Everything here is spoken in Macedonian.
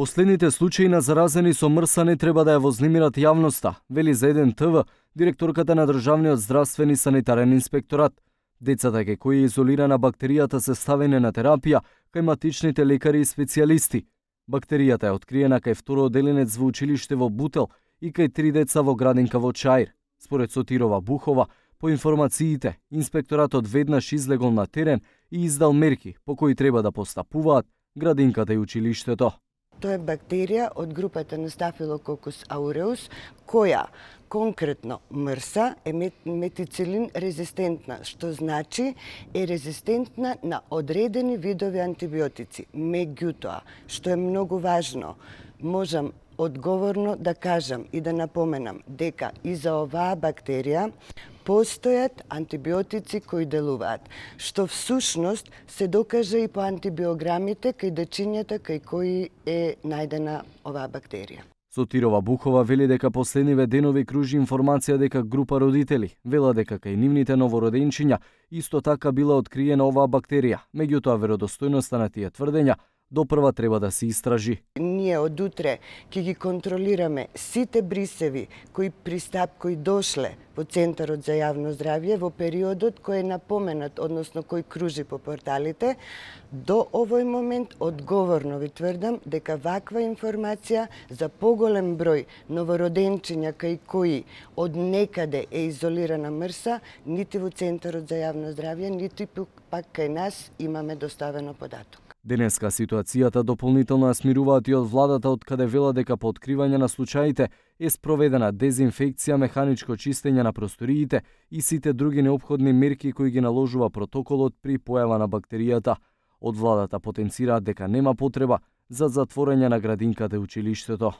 Последните случаи на заразени со МРСА не треба да ја вознемират јавноста, вели за 1 ТВ директорката на Државниот здравствен и санитарен инспекторат. Децата кај кои е изолирана бактеријата се ставени на терапија кај матичните лекари и специјалисти. Бактеријата е откриена кај второ одделенец во училиште во Бутел и кај 3 деца во градинка во Чаир. Според Сотирова Бухова, по информациите, инспекторатот веднаш излегол на терен и издал мерки по кои треба да постапуваат градинката и училиштето. Тоа е бактерија од групата на Staphylococcus aureus, која конкретно МРСА е метицилин резистентна, што значи е резистентна на одредени видови антибиотици. Меѓутоа, што е многу важно, можам одговорно да кажам и да напоменам дека и за оваа бактерија постојат антибиотици кои делуваат, што всушност се докажа и по антибиограмите кај дечињата кај кои е најдена оваа бактерија. Сотирова Бухова вели дека последниве денови кружи информација дека група родители вела дека кај нивните новороденчиња исто така била откриена оваа бактерија, меѓутоа веродостојноста на тие тврдења допрва треба да се истражи. Ние од утре ќе ги контролираме сите брисеви кои дошле во Центарот за јавно здравје во периодот кој е напоменат, односно кој кружи по порталите. До овој момент одговорно ви тврдам дека ваква информација за поголем број новороденчиња кај кои од некаде е изолирана МРСА, нити во Центарот за јавно здравје, нити пак кај нас имаме доставено податок. Денеска ситуацијата дополнително ја смируваат и од владата, од каде вела дека по откривање на случаите е спроведена дезинфекција, механичко чистење на просториите и сите други неопходни мерки кои ги наложува протоколот при појава на бактеријата. Од владата потенцираат дека нема потреба за затворање на градинката и училиштето.